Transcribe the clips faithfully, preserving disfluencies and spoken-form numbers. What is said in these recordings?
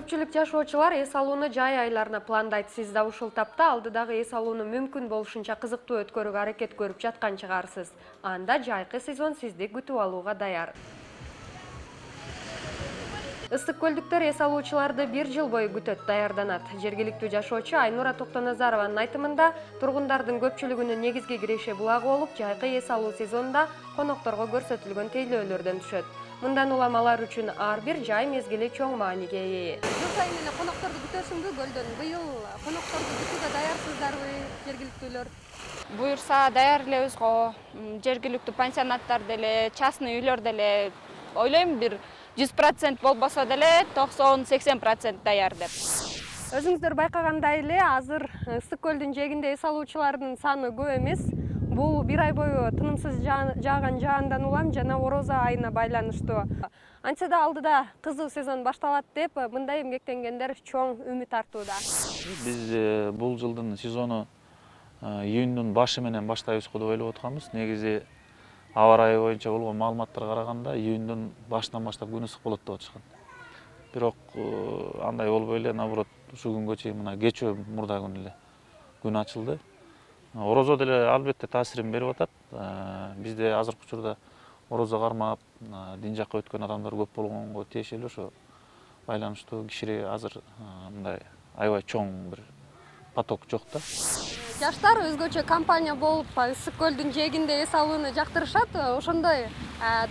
Көпчүлүк жашоочулар эс алууну жай айларына пландайт. Сиз да ушул тапта алдыдагы эс алууну мүмкүн болушунча кызыктуу өткөрүүгө аракет көрүп жаткан чыгарсыз. Анда жайкы сезон сизди күтүп алууга даяр. Ысык көлдүктөр эс алуучуларды бир жыл бою күтөт, даярданат. Жергиликтүү жашоочу Айнура Токтоназарованын айтымында, тургундардын көпчүлүгүнүн негизги киреши булагы болуп, жайкы эс алуу сезонунда конокторго көрсөтүлгөн тейлөөлөрдөн түшөт. Мындан улам алар үчүн ар бир жай мезгили чоң мааниге ээ. Жыл сайын эле конокторду күтөсүңбү көлдөн? Быйыл конокторду күтүүгө даярсыздарбы, жергиликтүүлөр? Буюрса даяр элебиз го. Жергиликтүү пансионаттар деле, частный үйлөр деле ойлойм бир жүз процент болбосо деле токсон сексен процент даяр деп. Өзүңүздөр байкагандай эле, азыр ысык көлдүн жээгинде эс алуучулардын саны көп эмес. Бул бир ай бою тынымсыз жааган жаандан улам жана орозо айына байланыштуу. Антсе да алдыда кызуу сезон башталат деп мындай эмгектенгендер чоң үмүт артууда. Биз бул жылдын сезону июндун башы менен баштайбызго деп ойлоп атканбыз. Негизи аба ырайы боюнча болгон маалыматтарга караганда июндун башынан баштап күн ысык болот деп атышкан. Бирок андай болбой эле, наоборот, ушул күнгө чейин мына кечөө мурда күн эле күн ачылды. Орозо деле албетте таасирин берип атат. Бизде азыркы учурда орозо кармап, дин жакка өткөн адамдар көп болгонго тиешелүү ошо байланыштуу киши азыр мындай аябай чоң бир поток жок да. Жаштар өзгөчө компания болуп, ысык көлдүн жээгинде эс алууну жактырышат. Ошондой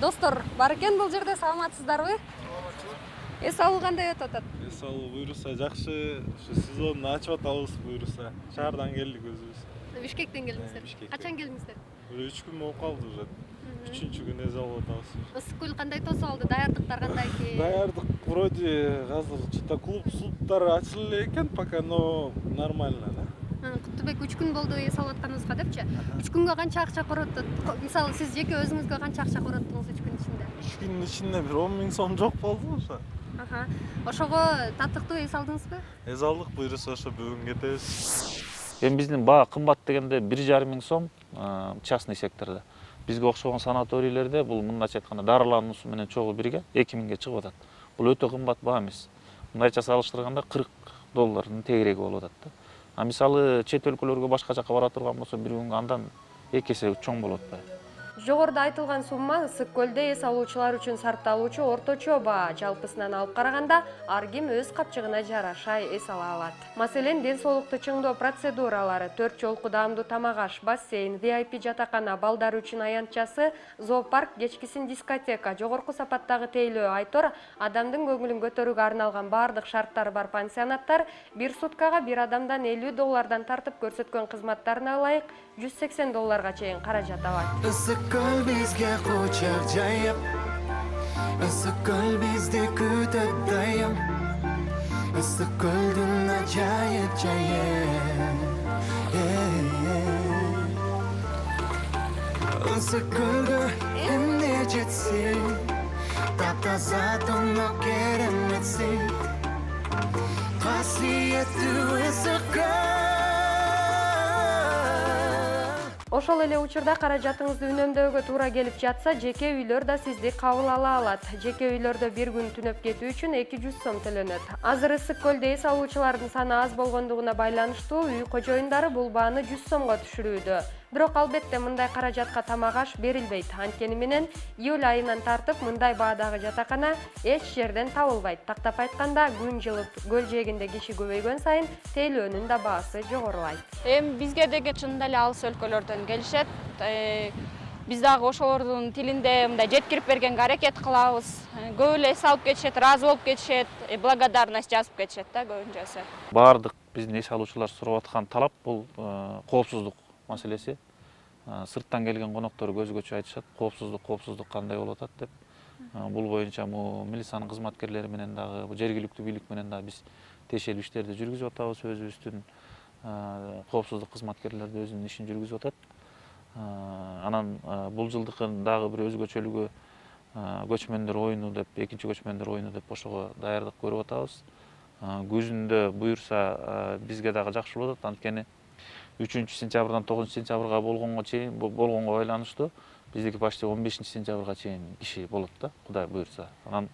достор бар экен бул жерде, саламатсыздарбы? Эс алуу кандай өтүп атат? Эс алуу буюрса жакшы, ушу сезонду ачып атабыз буюрса. Шаардан келдик өзүбүз. Бишкектен келдиңиздер. Качан келдиңиздер? Бир үч күн болуп калды уже. үчүнчү күн эс алып атабыз. Ысык көл кандай тосуп алды? Даярдыктар кандай экен? Даярдык вроде азыр чыта клуб клубдар ачылып эле экен пока, но нормально да. Куттубек, үч күн болду эс алып атканыбызга депчи. үч күнгө канча акча коротот? Мисалы, сиз жеке өзүңүзгө канча акча короттуңуз үч күн ичинде? үч күндүн ичинде бир он миң сом жок болду ошо. Ошого татыктуу эс алдыңызбы? Эс алдык, буюрса ошо бүгүн кетебиз. Эми биздин баа кымбат дегенде бир жарым миң сом частный сектордо. Бизге окшогон санаторийлерде бул мындайча айтканда дарылануусу менен чогуу бирге эки миңге чыгып атат. Бул өтө кымбат баа эмес. Мындайча салыштырганда кырк доллардын тегереги болуп атат да. А мисалы чет өлкөлөргө башка жакка бара турган болсо бир күнгө андан эки эсе чоң болуп атпайбы? Жогоруда айтылган сумма ысык көлдө эс алуучулар үчүн сарпталуучу орточо баа. Жалпысынан алып караганда ар ким өз капчыгына жараша эс ала алат. Маселен, ден соолукту чыңдоо процедуралары, төрт жолку даамдуу тамак аш, бассейн, ви ай пи жатакана, балдар үчүн аянтчасы, зоопарк, кечкисин дискотека, жогорку сапаттагы тейлөө, айтор, адамдын көңүлүн көтөрүүгө арналган баардык шарттары бар пансионаттар бир суткага бир адамдан элүү доллардан тартып көрсөткөн кызматтарына ылайык жүз сексен долларга чейин каражат алат. Ысык көл бизге кучак жайып, ысык көл бизди күтөт дайым. Ысык көлдүн ажайып жайы. Ысык көлгө эмне жетсин, таптаза тоңдоп кереметсин. Касиеттүү ысык көл. Ошол эле учурда каражатыңызды үнөмдөөгө туура келип жатса, жеке үйлөр да сизди кабыл ала алат. Жеке үйлөрдө бир күн түнөп кетүү үчүн эки жүз сом төлөнөт. Азыр ысык көлдө эс алуучулардын саны аз болгондугуна байланыштуу үй кожоюндары бул бааны жүз сомго түшүрүүдө. Бирок албетте мындай каражатка тамак аш берилбейт. Анткени менен июль айынан тартып мындай баадагы жатакана эч жерден табылбайт. Тактап айтканда, күн жылып көл жээгинде киши көбөйгөн сайын тейлөөнүн да баасы жогорулайт. Эми бизге деги чындап эле алыс өлкөлөрдөн келишет. Биз дагы ошолордун тилинде мындай жеткирип бергенге аракет кылабыз. Көп эле эс алып кетишет, ыраазы болуп кетишет, благодарность жазып кетишет да көбүнчөсү. Баардык биздин эс алуучулар сурап аткан талап бул коопсуздук маселеси. Сырттан келген коноктор өзгөчө айтышат, коопсуздук, коопсуздук кандай болуп атат деп. Бул боюнча милициянын кызматкерлери менен дагы, жергиликтүү бийлик менен дагы биз тиешелүү иштерди жүргүзүп атабыз. Өзүбүздүн коопсуздук кызматкерлери өзүнүн ишин жүргүзүп атат. Анан бул жылдыкын дагы бир өзгөчөлүгү көчмөндөр оюну деп, экинчи көчмөндөр оюну деп ошого даярдык көрүп атабыз. Күзүндө буюрса бизге дагы жакшы болот, анткени үчүнчү сентябрдан тогузунчу сентябрга болгонго чейин болгонго байланыштуу биздики почти он бешинчи сентябрга чейин киши болот да, Кудай буюрса. Анан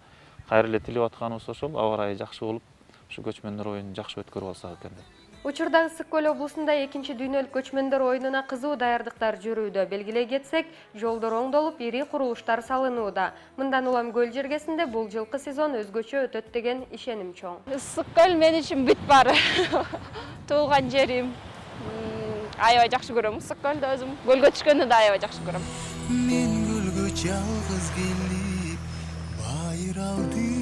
кайра эле тилеп атканыбыз ошол, аба ырайы жакшы болуп, ушу көчмөндөр оюнун жакшы өткөрүп алсак экен деп. Учурда Ысык көл облусунда экинчи дүйнөлүк көчмөндөр оюнуна кызуу даярдыктар жүрүүдө. Белгилей кетсек, жолдор оңдолуп, ири курулуштар салынууда. Мындан улам көл жергесинде бул жылкы сезон өзгөчө өтөт деген ишеним чоң. Ысык көл мен үчүн бүт баары. Туулган жерим. Аябай жакшы көрөм Ысык көлдү өзүм. Көлгө түшкөндү да аябай жакшы көрөм. Мен көлгө жалгыз келип, байыр алды